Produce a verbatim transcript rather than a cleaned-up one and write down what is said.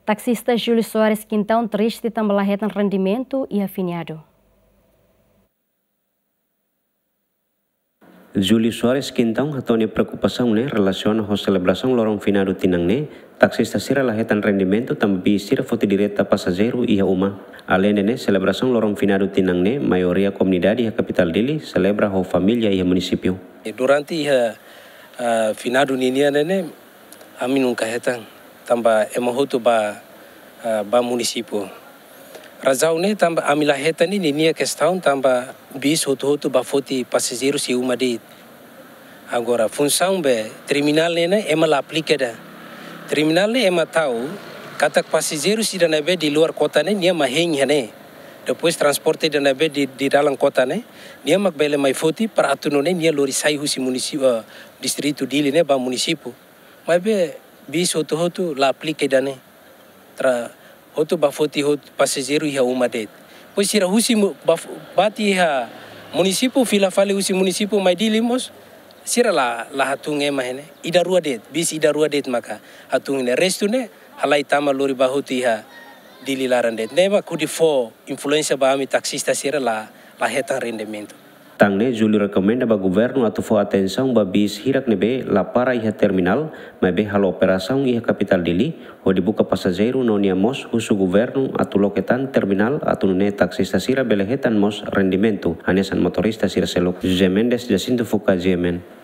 Taksista Júlio Soares Quintão triste tanba la hetan rendimentu iha feriadu. Júlio Soares Quintão hato'o nia preokupasaun ne'e relasiona ho selebrasaun loron feriadu tinan ne'e, taksista sira la hetan rendimentu tanba bis sira foti direta pasajeiru iha uma. Aleinde ne'e, selebrasaun loron feriadu tinan ne'e, maioria komunidade iha kapitál Dili selebra ho família iha munisípiu. Durante iha, ah, feriadu ninian ne'e, ami nunka hetan, tanba ema hotu ba, ah, ba munisípiu. Razaun ne'e tanba ami la hetan ne'e, ninia kestaun tanba bis hotu-hotu ba foti pasajeiru sei uma de'it. Agora, funsaun be terminál ne'e, ne'e ema la aplika ida. Terminál ne'e ema tau katak pasajeiru sira ne'ebé di luar kota ne'e, nia mak hein iha ne'e. Depois transporte ida ne'ebé di, di dalan kota ne'e, nia mak bele mai foti para atu nune'e nia lori sai husi munisípiu, eh, distritu Dili ne'e ba munisípiu. Maibé bis hotu-hotu la aplika ida-ne'e. Tra hotu ba foti hotu pasajeiru iha uma de'it. Depois sira husi mu-, ba f-, bati iha munisípiu, fila fali husi munisípiu mai Dili mós, sira la, la hatún ema iha ne'e. Ida rua de'it, bis ida rua de'it maka hatún iha ne'e. Restu ne'e halai tama lori ba hotu iha Dili laran de'it. Ne'e mak hodi fó influénsia ba ami taksista sira la, la hetan rendimentu. Tan ne'e, Júlio rekomenda ba governu atu fó atensaun ba bis hirak ne'ebé la para iha terminál, maibé halo operasaun iha kapitál Dili, hodi buka pasajeiru no nia mós husu governu atu loke tan terminál atu nune'e taksista sira bele hetan mós rendimentu, hanesan motorista sira seluk. José Mendes, Jacinto Fuca, G M N.